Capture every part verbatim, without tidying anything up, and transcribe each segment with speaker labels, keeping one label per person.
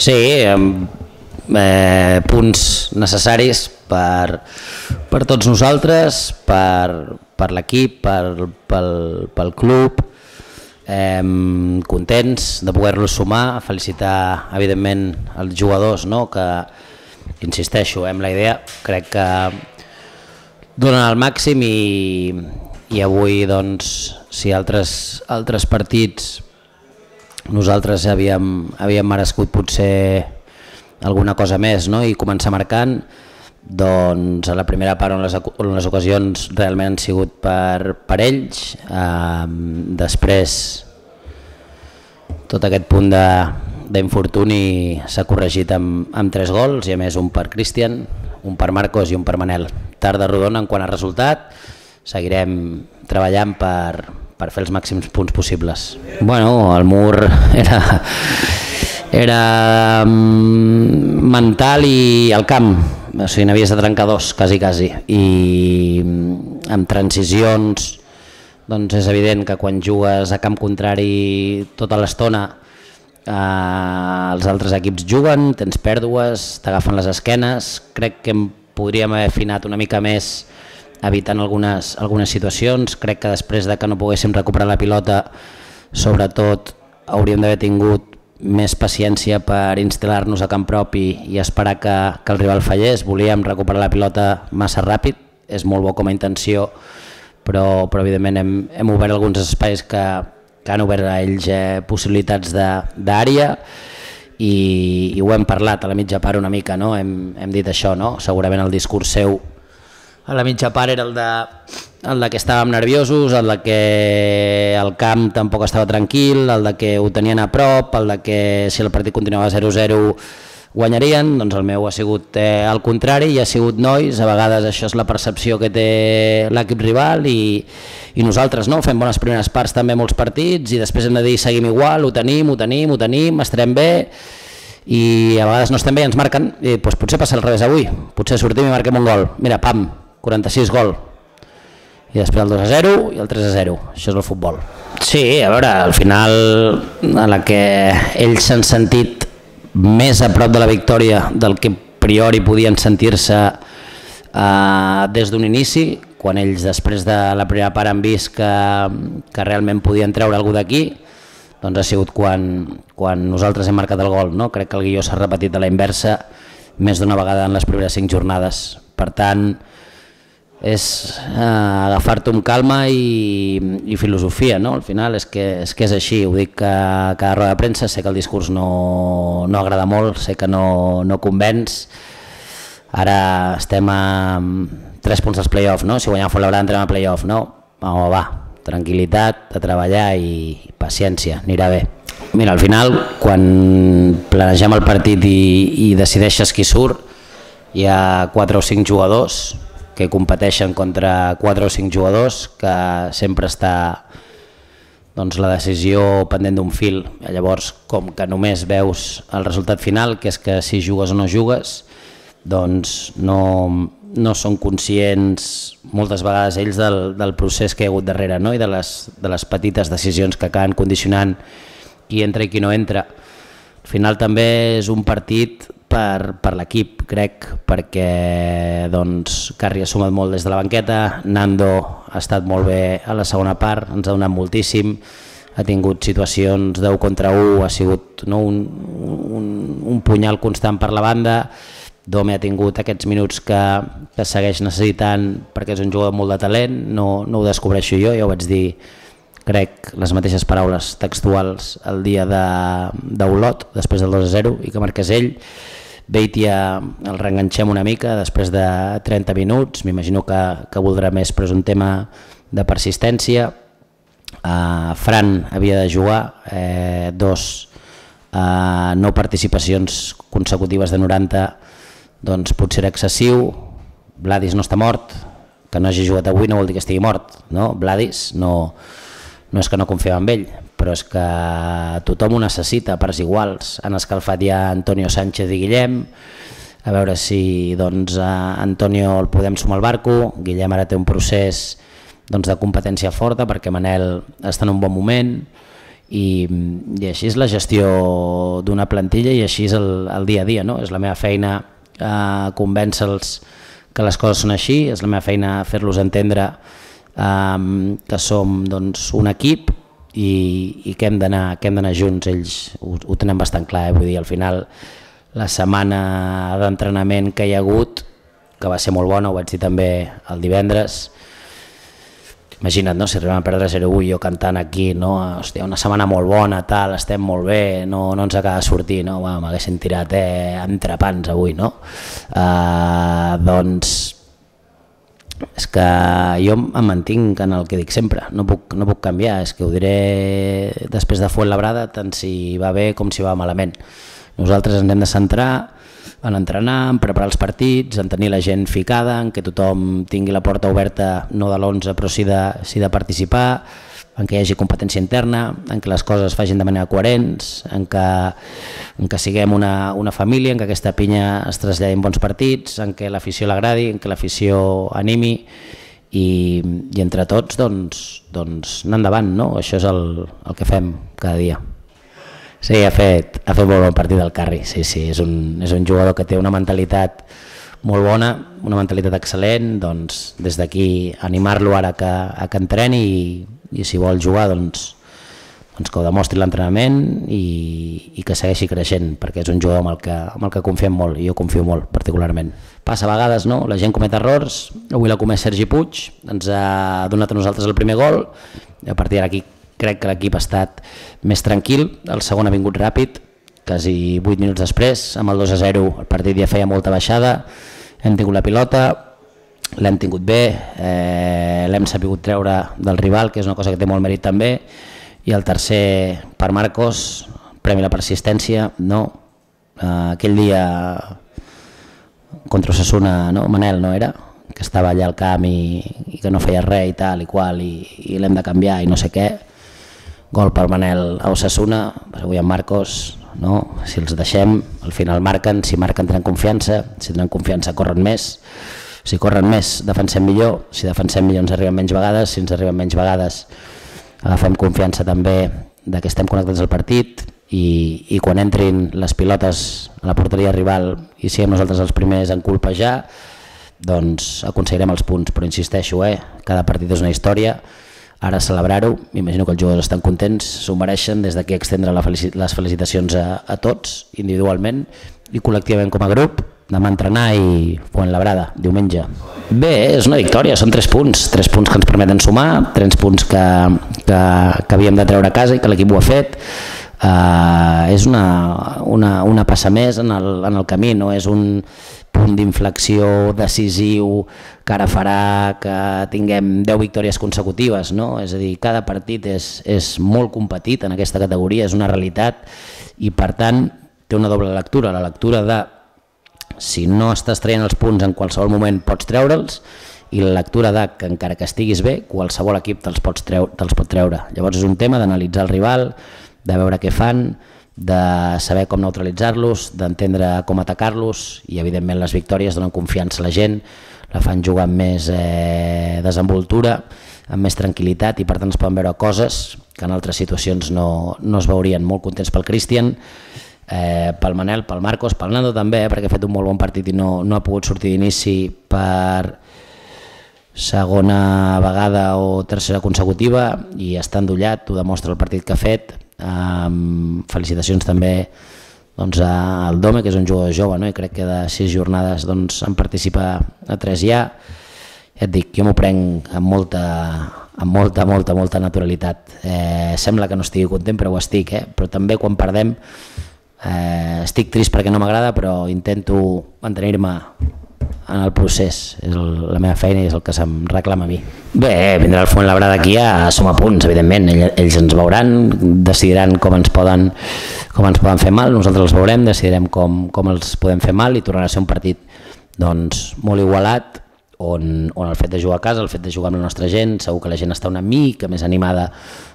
Speaker 1: Sí, eh, punts necessaris per, per tots nosaltres, per, per l'equip, per, pel, pel club, eh, contents de poder-los sumar, felicitar evidentment els jugadors, no? Que, insisteixo, amb la idea, crec que donen el màxim i, i avui, doncs, si altres, altres partits nosaltres havíem, havíem merescut potser alguna cosa més, no? I començar marcant, doncs a la primera part on les, on les ocasions realment han sigut per, per ells, eh, després tot aquest punt d'infortuni s'ha corregit amb, amb tres gols i a més un per Cristian, un per Marcos i un per Manel. Tarda rodona en quant a resultat, seguirem treballant per, per fer els màxims punts possibles. Bueno, el mur era, era mental i al camp, o sigui, n'havies de trencar dos, quasi, quasi, i amb transicions, doncs és evident que quan jugues a camp contrari tota l'estona, eh, els altres equips juguen, tens pèrdues, t'agafen les esquenes, crec que em podríem haver afinat una mica més evitant algunes, algunes situacions. Crec que després de que no poguéssim recuperar la pilota, sobretot hauríem d'haver tingut més paciència per instal·lar-nos a camp propi i esperar que, que el rival fallés. Volíem recuperar la pilota massa ràpid, és molt bo com a intenció, però, però evidentment hem, hem obert alguns espais que, que han obert a ells eh, possibilitats d'àrea i, i ho hem parlat a la mitja part una mica, no? Hem, hem dit això, no? Segurament el discurs seu a la mitja part era el de, el de que estàvem nerviosos, el de que el camp tampoc estava tranquil, el de que ho tenien a prop, el de que si el partit continuava zero zero guanyarien. Doncs el meu ha sigut eh, al contrari, i ha sigut nois, a vegades això és la percepció que té l'equip rival i, i nosaltres no fem bones primeres parts també molts partits i després hem de dir seguim igual, ho tenim, ho tenim, ho tenim, estarem bé i a vegades no estem bé i ens marquen i doncs potser passa al revés avui, potser sortim i marquem un gol, mira, pam, quaranta-sis gol i després el dos a zero i el tres a zero, això és el futbol. Sí, a veure, al final a la que ells s'han sentit més a prop de la victòria del que a priori podien sentir-se eh, des d'un inici, quan ells després de la primera part han vist que, que realment podien treure algú d'aquí, doncs ha sigut quan, quan nosaltres hem marcat el gol, no? Crec que el guió s'ha repetit a la inversa més d'una vegada en les primeres cinc jornades, per tant és eh, agafar-t'ho amb calma i, i filosofia, no? Al final és que, és que és així, ho dic que a cada roda de premsa, sé que el discurs no, no agrada molt, sé que no, no convenç, ara estem a tres punts dels play-off, no? Si guanyem Fuenlabrada entrem a play-off, no? Home, va, tranquil·litat, a treballar i paciència, anirà bé. Mira, al final, quan planegem el partit i, i decideixes qui surt, hi ha quatre o cinc jugadors que competeixen contra quatre o cinc jugadors, que sempre està doncs, la decisió pendent d'un fil. Llavors, com que només veus el resultat final, que és que si jugues o no jugues, doncs no, no són conscients moltes vegades ells del, del procés que hi ha hagut darrere, no? I de les, de les petites decisions que acaben condicionant qui entra i qui no entra. Al final també és un partit per, per l'equip, crec, perquè doncs, Carri ha sumat molt des de la banqueta, Nando ha estat molt bé a la segona part, ens ha donat moltíssim, ha tingut situacions deu contra u, ha sigut no, un, un, un punyal constant per la banda, Dome ha tingut aquests minuts que, que segueix necessitant perquè és un jugador molt de talent, no, no ho descobreixo jo, ja ho vaig dir, crec, les mateixes paraules textuals el dia d'Olot, de, després del dos a zero, i que marqués ell. Beitia el reenganxem una mica després de trenta minuts, m'imagino que, que voldrà més, però és un tema de persistència. Uh, Fran havia de jugar, eh, dos uh, no participacions consecutives de noranta, doncs potser era excessiu. Vladis no està mort, que no hagi jugat avui no vol dir que estigui mort, no? Vladis no, no és que no confiem en ell, però és que tothom ho necessita, parts iguals. Han escalfat ja Antonio Sánchez i Guillem, a veure si doncs, Antonio el podem sumar al barco. Guillem ara té un procés doncs, de competència forta perquè Manel està en un bon moment i, i així és la gestió d'una plantilla i així és el, el dia a dia, no? És la meva feina eh, convèncer-los que les coses són així, és la meva feina fer-los entendre eh, que som doncs, un equip i, i que hem d'anar que hem d'anar junts. Ells ho, ho tenen bastant clar, eh? Vull dir, al final la setmana d'entrenament que hi ha hagut, que va ser molt bona, ho vaig dir també el divendres. Imagina't, no? Si arribem a perdre zero vuit, jo cantant aquí, no? Hòstia, una setmana molt bona, tal, estem molt bé, no, no ens acaba de sortir, no? Bueno, m'haguessin tirat eh, entrepans avui, no? Uh, doncs és que jo em mantinc en el que dic sempre, no puc, no puc canviar, és que ho diré després de Fuenlabrada, tant si va bé com si va malament. Nosaltres ens hem de centrar en entrenar, en preparar els partits, en tenir la gent ficada, en que tothom tingui la porta oberta, no de l'onze però sí de, sí de participar, en què hi hagi competència interna, en què les coses es facin de manera coherents, en que, en que siguem una, una família, en que aquesta pinya es traslladi en bons partits, en què l'afició l'agradi, en què l'afició animi i, i entre tots doncs, doncs anar endavant, no? Això és el, el que fem cada dia. Sí, ha fet, ha fet molt bon partit el Carri, sí, sí, és un, és un jugador que té una mentalitat molt bona, una mentalitat excel·lent, doncs des d'aquí animar-lo ara que, a que entreni i, i si vol jugar doncs, doncs que ho demostri l'entrenament i, i que segueixi creixent, perquè és un jugador amb el que, amb el que confiem molt i jo confio molt particularment. Passa a vegades, no? La gent comet errors, avui l'ha comès Sergi Puig, ens ha donat a nosaltres el primer gol i a partir d'aquí crec que l'equip ha estat més tranquil, el segon ha vingut ràpid, quasi vuit minuts després, amb el dos a zero el partit ja feia molta baixada, hem tingut la pilota, l'hem tingut bé, eh, l'hem sabut treure del rival, que és una cosa que té molt mèrit també, i el tercer per Marcos, premi a la persistència, no? Eh, aquell dia contra Osasuna, no? Manel no era? Que estava allà al camp i, i que no feia res i tal i qual i, i l'hem de canviar i no sé què. Gol per Manel a Osasuna, avui amb Marcos, no? Si els deixem, al final marquen, si marquen tenen confiança, si tenen confiança corren més, si corren més defensem millor, si defensem millor ens arriben menys vegades, si ens arriben menys vegades agafem confiança també de que estem connectats al partit i, i quan entrin les pilotes a la porteria rival i siguem nosaltres els primers en colpejar, doncs aconseguirem els punts, però insisteixo, eh? Cada partit és una història. Ara celebrar-ho, m'imagino que els jugadors estan contents, s'ho mereixen, des d'aquí extendre les felicitacions a, a tots, individualment i col·lectivament com a grup, demà entrenar i Fuenlabrada, diumenge. Bé, és una victòria, són tres punts, tres punts que ens permeten sumar, tres punts que, que, que havíem de treure a casa i que l'equip ho ha fet. Uh, és una, una, una passa més en el, en el camí, no és un punt d'inflexió decisiu que ara farà que tinguem deu victòries consecutives, no? És a dir, cada partit és, és molt competit en aquesta categoria, és una realitat i per tant té una doble lectura, la lectura de si no estàs traient els punts en qualsevol moment pots treure'ls i la lectura de que encara que estiguis bé qualsevol equip te'ls pot treure. Llavors és un tema d'analitzar el rival, de veure què fan, de saber com neutralitzar-los, d'entendre com atacar-los i evidentment les victòries donen confiança a la gent, la fan jugar amb més eh, desenvoltura, amb més tranquil·litat i per tant es poden veure coses que en altres situacions no, no es veurien. Molt contents pel Cristian, eh, pel Manel, pel Marcos, pel Nando també, eh, perquè ha fet un molt bon partit i no, no ha pogut sortir d'inici per segona vegada o tercera consecutiva i està endollat, ho demostra el partit que ha fet. Um, felicitacions també doncs, al Dome, que és un jugador jove, no? I crec que de sis jornades doncs, en participa a tres ja. Ja et dic, jo m'ho prenc amb molta, amb molta, molta, molta naturalitat. Eh, sembla que no estigui content, però ho estic, eh? Però també quan perdem eh, estic trist perquè no m'agrada, però intento mantenir-me en el procés, és el, la meva feina i és el que se'm reclama a mi. Bé, vindrà el Fuenlabrada aquí a sumar punts, evidentment, ells, ells ens veuran, decidiran com ens poden, com ens poden fer mal, nosaltres els veurem, decidirem com, com els podem fer mal i tornarà a ser un partit doncs, molt igualat, on, on el fet de jugar a casa, el fet de jugar amb la nostra gent, segur que la gent està una mica més animada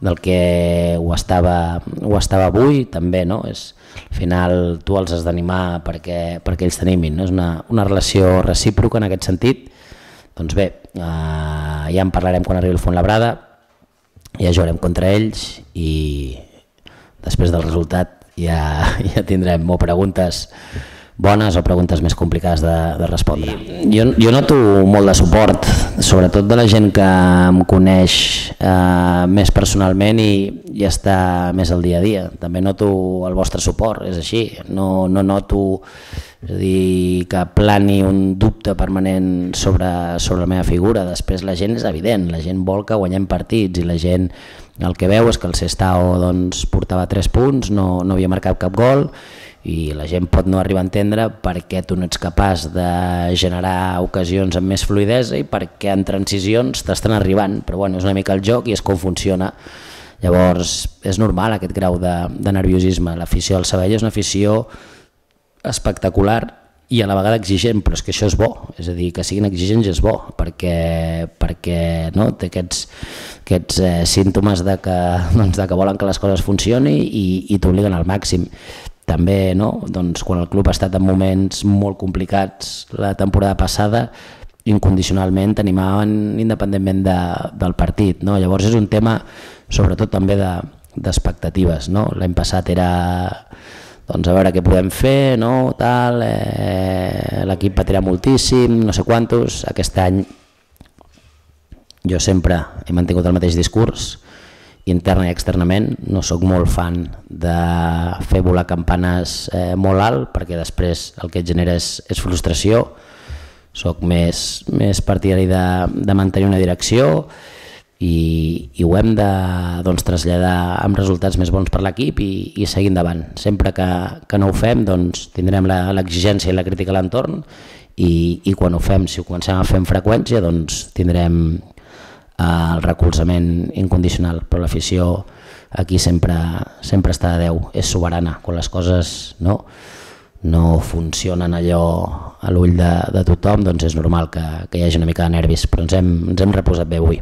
Speaker 1: del que ho estava, ho estava avui, també, no? És, al final tu els has d'animar perquè, perquè ells t'animin, no? És una, una relació recíproca en aquest sentit. Doncs bé, eh, ja en parlarem quan arribi el Fuenlabrada, ja jugarem contra ells i, després del resultat ja, ja tindrem o preguntes bones o preguntes més complicades de, de respondre. Jo, jo noto molt de suport, sobretot de la gent que em coneix eh, més personalment i, i està més al dia a dia. També noto el vostre suport, és així. No, no noto és a dir, que plani un dubte permanent sobre, sobre la meva figura. Després la gent és evident, la gent vol que guanyem partits i la gent el que veu és que el Sestao doncs, portava tres punts, no, no havia marcat cap gol, i la gent pot no arribar a entendre per què tu no ets capaç de generar ocasions amb més fluïdesa i per què en transicions t'estan arribant, però bueno, és una mica el joc i és com funciona. Llavors és normal aquest grau de, de nerviosisme. L'afició del Sabadell és una afició espectacular i a la vegada exigent, però és que això és bo, és a dir, que siguin exigents és bo, perquè, perquè no, té aquests, aquests eh, símptomes de que, doncs, de que volen que les coses funcionin i, i t'obliguen al màxim. També, no? Doncs, quan el club ha estat en moments molt complicats la temporada passada, incondicionalment t'animaven independentment de, del partit. No? Llavors és un tema sobretot també d'expectatives. De, no? L'any passat era doncs, a veure què podem fer, no? Tal, eh, l'equip patirà moltíssim, no sé quantos. Aquest any jo sempre he mantingut el mateix discurs, interna i externament. No sóc molt fan de fer volar campanes eh, molt alt, perquè després el que et genera és, és frustració. Soc més, més partidari de, de mantenir una direcció i, i ho hem de doncs, traslladar amb resultats més bons per l'equip i, i seguir endavant. Sempre que, que no ho fem doncs, tindrem l'exigència i la crítica a l'entorn i, i quan ho fem, si ho comencem a fer amb freqüència, doncs tindrem el recolzament incondicional, però l'afició aquí sempre, sempre està a deu, és soberana. Quan les coses no, no funcionen allò a l'ull de, de tothom, doncs és normal que, que hi hagi una mica de nervis, però ens hem, ens hem reposat bé avui.